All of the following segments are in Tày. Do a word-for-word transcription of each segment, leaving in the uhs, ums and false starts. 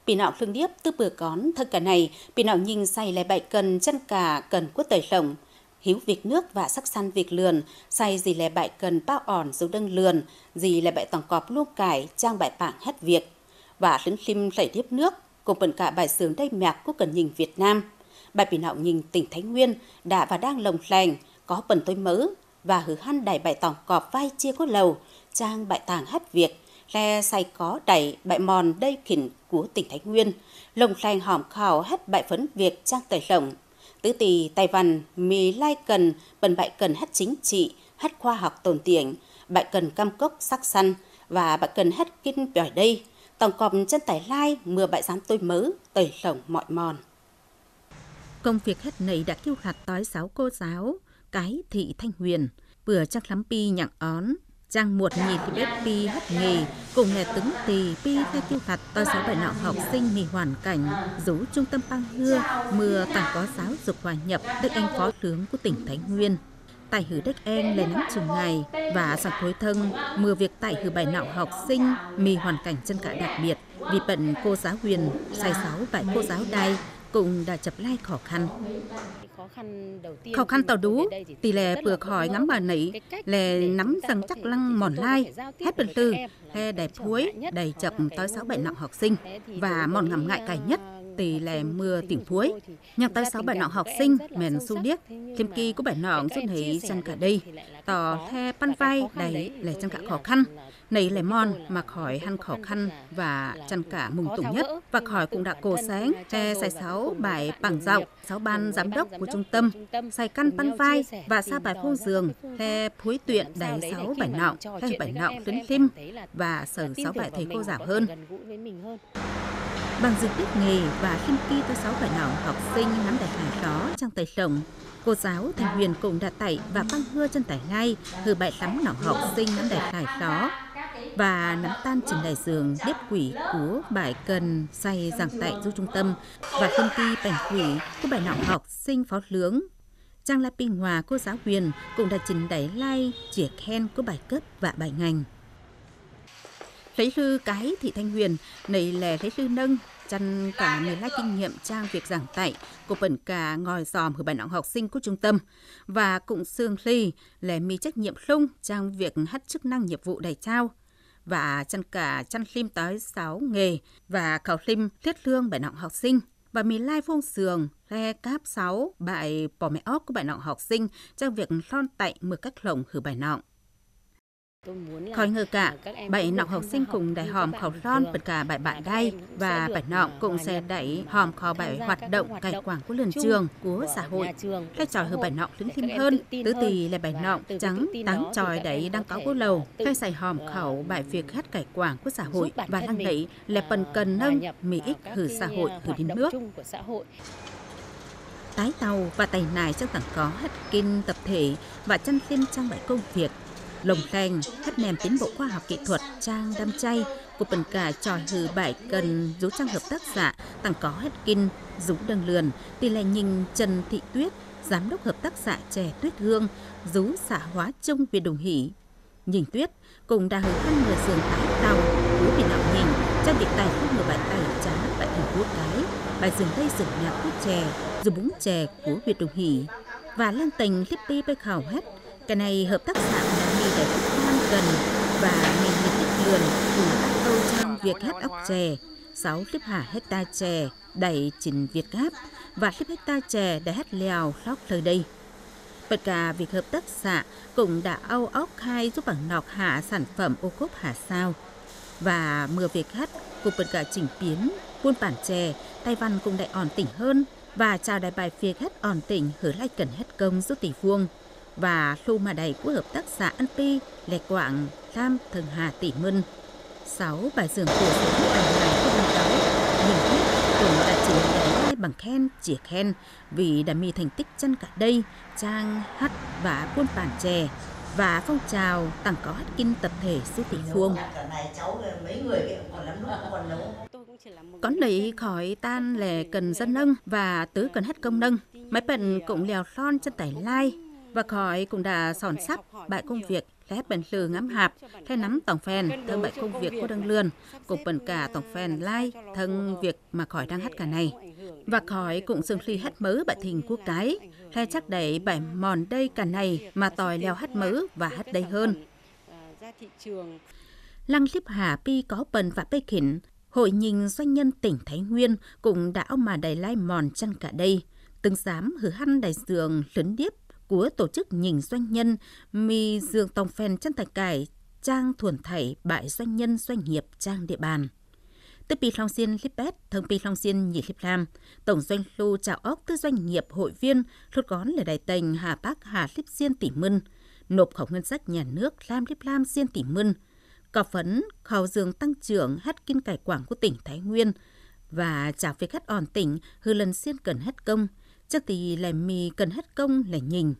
Pị nọ lưng điếp tứ pưa cón, thâng cà nây, pị nọ nhing say lẻ bảy cân, chăn cà cần cúa tơi lồng, hiếu việc nước và sắc săn việc lượn, say gì lẻ bảy cân, páo ỏn dú đơng lượn, gì lẻ bảy tổng cọp luông cải, chang bảy pảng hết việc. Và lưng slim lạy điếp nước, cùng bận cả bài xướng đay mẹc cúa cần nhing Việt Nam. Bài pị nọ nhing tỉnh Thái Nguyên đã và đang lồng leng, có bận tôi mớ, và hử hăn đảy bảy tổng cọp vai chia cúa lầu, chang bảy tảng hết việc, lẻ say có đảy bảy mòn đay khỉn cúa tỉnh Thái Nguyên, lồng leng hỏm khảu hết bảy phấn việc chang tơi lồng. Tứ ti Tây Văn mì lai cần, bận bảy cần hết chính trị, hết khoa học tồn tiệng, bảy cần căm cốc sắc săn, và bảy cần hết kin pjỏi đây. Tổng cọp chân tải lai mưa bảy giám tôi mớ, tơi lồng mọi mòn. Công việc hết nảy đã kiêu hạt tói sáu cô giáo, cái thị Thanh Huyền, pưa chắc lắm pi nhặng ón, chang muột nhì ti bếp pi hết nghề, cùng nè tứng ti pi lẻ kiêu hạt tói sáu bảy nọ học sinh mì hoàn cảnh, dú trung tâm Păng Hưa, mưa tặng có giáo dục hòa nhập, Đức Anh phó tướng của tỉnh Thái Nguyên. Tại hử Đức Anh lẻ nắm chừng ngày, và sẵn khối thông, mưa việc tại hử bảy nọ học sinh mì hoàn cảnh chân cả đặc biệt. Vì bận cô giáo Huyền, say sáu bảy cô giáo đay, cũng đã chập lai khó khăn. Khó khăn tàu đú, tỷ lệ pưa khỏi ngắm mà nảy, lẻ nắm răng chắc lăng mòn lai, hết bận tư, lẻ đảy phuối, đảy chập tói sáu bảy nọ học sinh, và mòn ngắm ngại cải nhất, tỷ lệ mưa tỉnh phuối. Nhăng tói sáu bảy nọ học sinh, men su điếc, thêm kỳ cúa bảy nọ rút hãy chân cả đây, tỏ lẻ păn vai đảy lẻ chân cả khó khăn. Nảy lẻ mòn mà khỏi hăn khó khăn và chân cả mùng tủng nhất. Và khỏi cũng đã cô sáng, lẻ say sáu bảy pảng dạo, sáu ban giám đốc của trung tâm, say căn păn vai và sa bài phông giường, lẻ phuối tuyện đảy sáu bảy nọ, lẻ bảy nọ lưng slim và sờ sáu bảy thầy cô giáo hơn. Bằng dư tiết nghề và slim ki tói sáu bảy nọ học sinh nắm đảy lai ló chang tơi lồng, cô giáo Thanh Huyền cũng đã tạy và Păng Hưa chân tải lai, hử bảy lăm nọ học sinh nắm đảy lai ló. Và nắm tan trình đại dưỡng điếp quỷ cúa bảy cần say giảng tại dú trung tâm, và công ty bẻng quỷ cúa bảy nọ học sinh phó lướng. Chang lai pi ngoa cô giáo Huyền cũng đã trình đảy lai chia khen cúa bảy cấp và bảy ngành. Lễ lư cái thị Thanh Huyền, nảy lẻ lễ lư nâng, chăn cả mười lai kinh nghiệm chang việc giảng dạy, cô bận cả ngồi dòm hử bảy nọ học sinh cúa trung tâm, và cũng xương ly lẻ mì trách nhiệm lung chang việc hắt chức năng nhiệm vụ đảy trao, và chăn cả chăn slim tói sáu nghề, và khảu slim liết lương bảy nọ học sinh, và mì lai vuông giường, lẻ cáp sáu bảy pò mẹ ốc cúa bảy nọ học sinh, chang việc lon tạy mưa cách lồng hử bảy nọ. Khỏi ngờ cả, bảy nọ học sinh cũng đảy hòm khảu lon bật cả bảy bạn đay, và bảy nọ cũng sẽ đảy hòm khảu bảy hoạt động cải quảng của lươn trường, của xã hội. Lẻ chọi hử bảy nọ lưng slim hơn, tứ ti lẻ bảy nọ chắng tắng chọi đảy đăng cáo cúa lầu, lẻ say hòm khảu bảy việc hắt cải quảng của xã hội, và lăng đảy lẻ bận cần nâng mì ích hử xã hội, hử điên nước. Tái tàu và tẩy nải chang tẳng có hắt kin tập thể và chăn slim chang bảy công việc. Lồng leng, hắt nèm tiến bộ khoa học kỹ thuật chang đăm chay, cô bận cả chọi hử bảy cần dú chang hợp tác xã tẳng có hắt kin dú đâng lươn, tỷ lệ nhing Trần Thị Tuyết, giám đốc hợp tác xã chè Tuyết Hương, dú xã Hóa Trung, huyện Đồng Hỷ. Nhing Tuyết cũng đã hử hăn mười giường tái tàu của Việt Nam nhing, chang việc tải không mười bảy tải chá tại thành phố Cái, bảy giường Tây giường nhạc quốc chè, dù búng chè của huyện Đồng Hỷ. Và lăng tênh lip ti bê khảo hét, cái này hợp tác xã đã mì đảy phúc than cần và mì nhiệt tích lượn của các câu chang việc hét ốc chè, sáu lip hả hecta chè, đảy chín Việt Gáp, và lip hecta chè đảy hét lèo lóc lơ đây. Bật cả việc hợp tác xã cũng đã âu ốc khai giúp bằng nọc hạ sản phẩm ô cốp hạ sao. Và mưa việc hét cũng bật cả chỉnh biến, buôn bản chè, Tây Văn cũng đảy ổn định hơn, và chào đảy bài việc hét ổn định hứa lách cần hét công giúp tỷ vuông. Và lu mà đảy của hợp tác xã ăn pi, lẻ quảng, lam thường hà tỷ mưn. Sáu bài dưỡng của số nước ăn hàng của Hưng Cáu, nhưng biết cũng đã chỉnh đảy lai bằng khen, chia khen, vì đã mì thành tích chân cả đây, chang hắt và buôn bản chè, và phong trào tặng có hắt kin tập thể số tỷ phương. Có nảy khỏi tan lẻ cần dân nâng và tứ cần hét công nâng. Máy bận cũng lèo lon chân tải lai, và khỏi cũng đã sòn sắp bài công việc lẻ hét bại lư ngắm hạp, lẻ nắm tỏng phen, thâng bại công việc cúa đâng lươn, cũng bần cả tỏng phen lai, thâng việc mà khỏi đang hét ca này. Và khỏi cũng dường hli hét mớ bại thịnh cúa cái, lẻ chắc đảy bại mòn đây ca này mà tỏi leo hét mớ và hét đây hơn. Lăng slíp hả pi có bần và pê khỉn, Hội Nhing Doanh nhân tỉnh Thái Nguyên cũng đã au mà đảy lai mòn chăn cả đây. Từng dám hử hăn đảy dường lứn điếp của tổ chức nhing doanh nhân, mì dường tòng phen chăn tài cải, trang thuần thảy bại doanh nhân doanh nghiệp trang địa bàn. Tứ pi hlong xiên lip pét, thơng pi hlong xiên nhị lip lam, tổng doanh thu chảo ốc tứ doanh nghiệp hội viên lút cón lẻ đảy têng hà pác hà lip xiên tỷ mưn, nộp khẩu ngân sách nhà nước lam lip lam xiên tỷ mưn, cọ phấn khẩu dường tăng trưởng hắt kin cải quảng của tỉnh Thái Nguyên, và chảo việc hắt on tỉnh hư lần xiên cần hắt công, chắc tì lẻ mì cần hắt công lẻ nhing.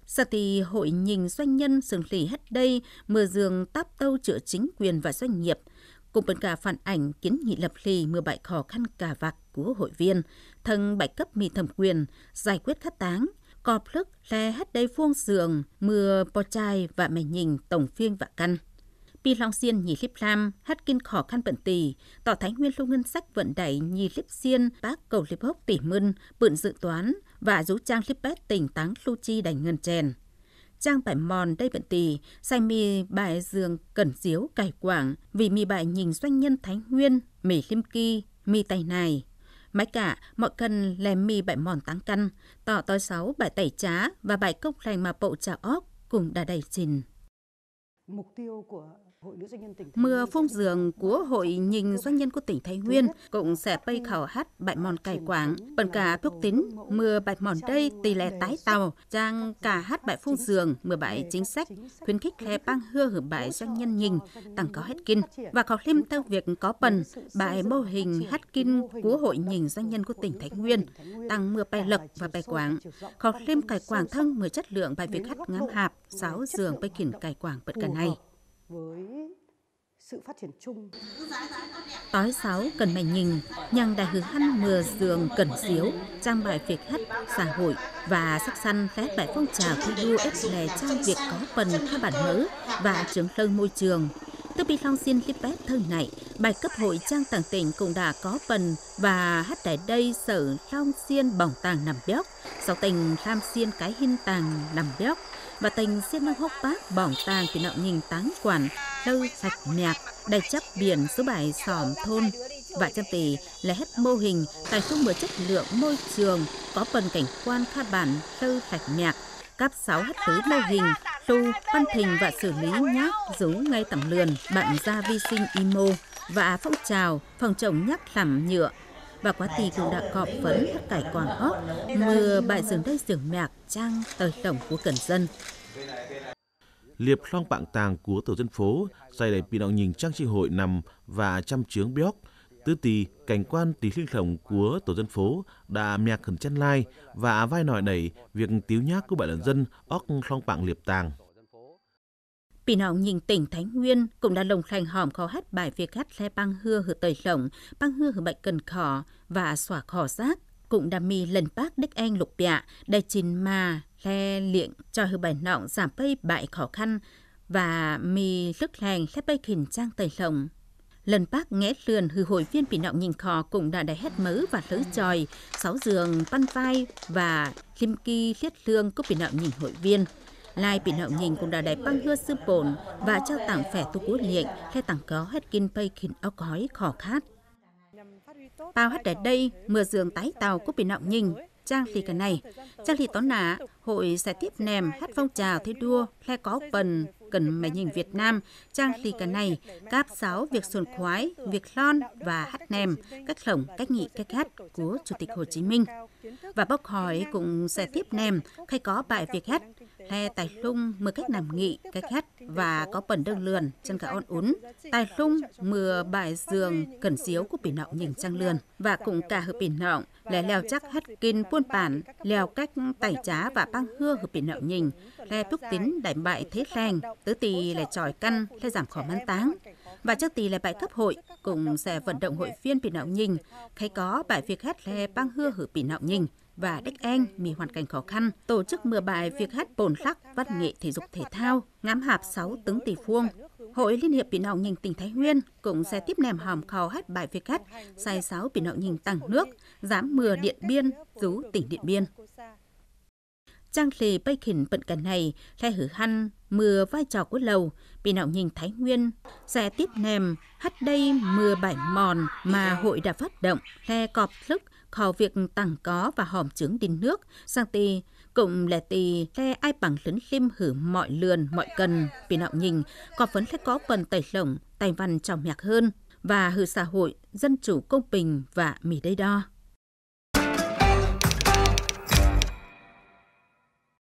Sa tì hội nhing doanh nhân sương hli hắt đây mưa dường táp tâu chữa chính quyền và doanh nghiệp, cũng bần cả phản ảnh kiến nghị lập hli mưa bại khó khăn cà vạc của hội viên, thâng bại cấp mì thẩm quyền, giải quyết khắt táng, cọp lức lẻ hắt đây phuông dường mưa po chai và mẹ nhing tổng phiên vạ căn. Pi hlong xiên nhị lip lam, hắt kin khó khăn bận tì, tỏ Thái Nguyên lu ngân sách vận đảy nhị lip xiên pác cầu lip hốc tỷ mưn, bựng dự toán, và dú trang lip pét tỉnh táng lu chi đảy ngân chèn. Chang bại mòn đây bận tì, sai mì bại dường cẩn diếu cải quảng, vì mì bại nhing doanh nhân Thái Nguyên, mì lim ki, mì tay nài. Mái cả, mọi cần lẻ mì bại mòn táng căn, tỏ toi sáu bại tẩy chá và bại cốc lành mà bộ chảo ốc cũng đã đảy chìn. Mưa phung dường của Hội Nhing Doanh nhân của tỉnh Thái Nguyên cũng sẽ pây khảo hát bại mòn cải quảng. Bần cả phúc tín, mưa bại mòn đây tỷ lệ tái tạo, chang cả hát bại phung dường, mưa bại chính sách, khuyến khích lẻ pang hưa hử bại doanh nhân nhing, tăng có hát kin. Và khảo hlim theo việc có bần, bại mô hình hát kin của Hội Nhing Doanh nhân của tỉnh Thái Nguyên, tăng mưa pay lộc và pay quảng. Khảo hlim cải quảng thông mưa chất lượng bại việc hát ngắm hạp, sáu dường pây khỉn cải quảng bật cả này. Tói sáu cần mẹ nhing, nhăng đại hư hăn mưa dường cần diếu, trang bài việc hắt xã hội và sắc săn lé bài phong trào thi đua ép lè trang việc có phần khá bản mớ và trưởng lưng môi trường. Tư bi long xiên lip bét thơ nạy, bài cấp hội trang tảng tỉnh cũng đã có phần và hắt đại đây sở long xiên bỏng tàng nằm bióc, sáu tỉnh lam xiên cái hin tàng nằm bióc, và tỉnh Xiên Nông Hốc Bắc bỏng tàng kỷ nọng nhing táng quản lư sạch mẹc, đại chấp biển số bài sòm thôn. Và chăm tì lễ hết mô hình tài trung mưa chất lượng môi trường có phần cảnh quan khá bản lư sạch mẹc, cắp sáu hát tứ mô hình, tu, văn thình và xử lý nhác rú ngay tầm lườn, bạn da vi sinh imo và phong trào phòng chống nhác lỏng nhựa. Và quá tì cũng đã cọp phấn hát cải quảng ốc, mưa bại dường đây dường mẹc trang tơi tổng của cần dân. Liệp hlong pạng tàng của tổ dân phố, say đảy kỷ nọng nhing trang chi hội nằm và chăm chướng bióc. Tứ tì, cảnh quan tì hling hlổng của tổ dân phố đã mẹc khẩn chăn lai và vai nọi đảy việc tiếu nhác của bại lận dân ốc hlong pạng liệp tàng. Kỷ nọng nhing tỉnh Thái Nguyên cũng đã lồng khleng hòm khâu hát bài việc hát lé pang hưa hử tơi hlổng, pang hưa hử bại cần khỏ và xóa khỏ rác, cũng đã mì lần bác đếch eng lục bạ, đảy chìn ma, lé liệng, choi hử bại nọng giảm pây bại khó khăn, và mì lức leng lé pây khỉn trang tơi hlổng. Lần bác nghé lươn hư hội viên kỷ nọng nhing kho cũng đã đảy hét mớ và lưới choi, sáu giường păn vai và lim ki liết lương cúp kỷ nọng nhing hội viên. Lai kỷ nọng nhing cũng đã đảy păng hưa sư bổn và trao tặng phẻ tu cú liệng, lé tặng có hét kin pây khỉn ốc hói khỏ khát. Pao hắt đảy đây, mưa dường tái tàu cúp kỷ nọng nhing, trang ly cà này. Trang ly tón nạ, hội sẽ tiếp nèm hát phong trào thi đua, lé có phần cần mẹ nhing Việt Nam, trang ly cà này, cáp sáu việc xuân khoái, việc lon và hát nèm, cách lỏng, cách nghị, cách hát của Chủ tịch Hồ Chí Minh. Và bốc hỏi cũng sẽ tiếp nèm, khay có bài việc hát, lé tài lung mưa cách nằm nghị, cách hát và có phần đơn lượn, chân cả on ún. Tài lung mưa bài dường cần diếu của kỷ nọng nhing trang lượn. Và cũng cả hư kỷ nọng, lé leo chắc hát kin buôn bản, leo cách tảy chá và pang hưa hư kỷ nọng nhing, lé phúc tín đảy bại thế leng, tứ tì lé chọi căn, lé giảm khó măn táng. Và trước tì lé bại cấp hội, cũng sẽ vận động hội viên kỷ nọng nhing, khay có bài việc hát lé pang hưa hư kỷ nọng nhing. và đếch eng mì hoàn cảnh khó khăn, tổ chức mưa bài việc hát pôn lắc, văn nghệ thể dục thể thao, ngắm hạp sáu tứng tỷ phương. Hội Liên hiệp Pì Nọng Nhing tỉnh Thái Nguyên cũng sẽ tiếp nèm hòm khâu hát bài việc hát sai sáu Pì Nọng Nhing tẳng nước, giám mưa Điện Biên, dú tỉnh Điện Biên. Chang lê pây khỉn pận kẻ này, lè hử hăn mưa vai trò của lầu, Pì Nọng Nhing Thái Nguyên sẽ tiếp nèm hát đây mưa bài mòn mà hội đã phát động, lè cọp lức khâu việc tẳng có và hòm chướng đin nước, sang ti, cũng lẻ ti, lè ai pẳng lứn lim hử mọi lượn, mọi cần, Pì Nọng Nhing, cọp phấn lè có phần tẩy lỏng, tài văn trong nhạc hơn, và hử xã hội, dân chủ công bình và mì đây đo.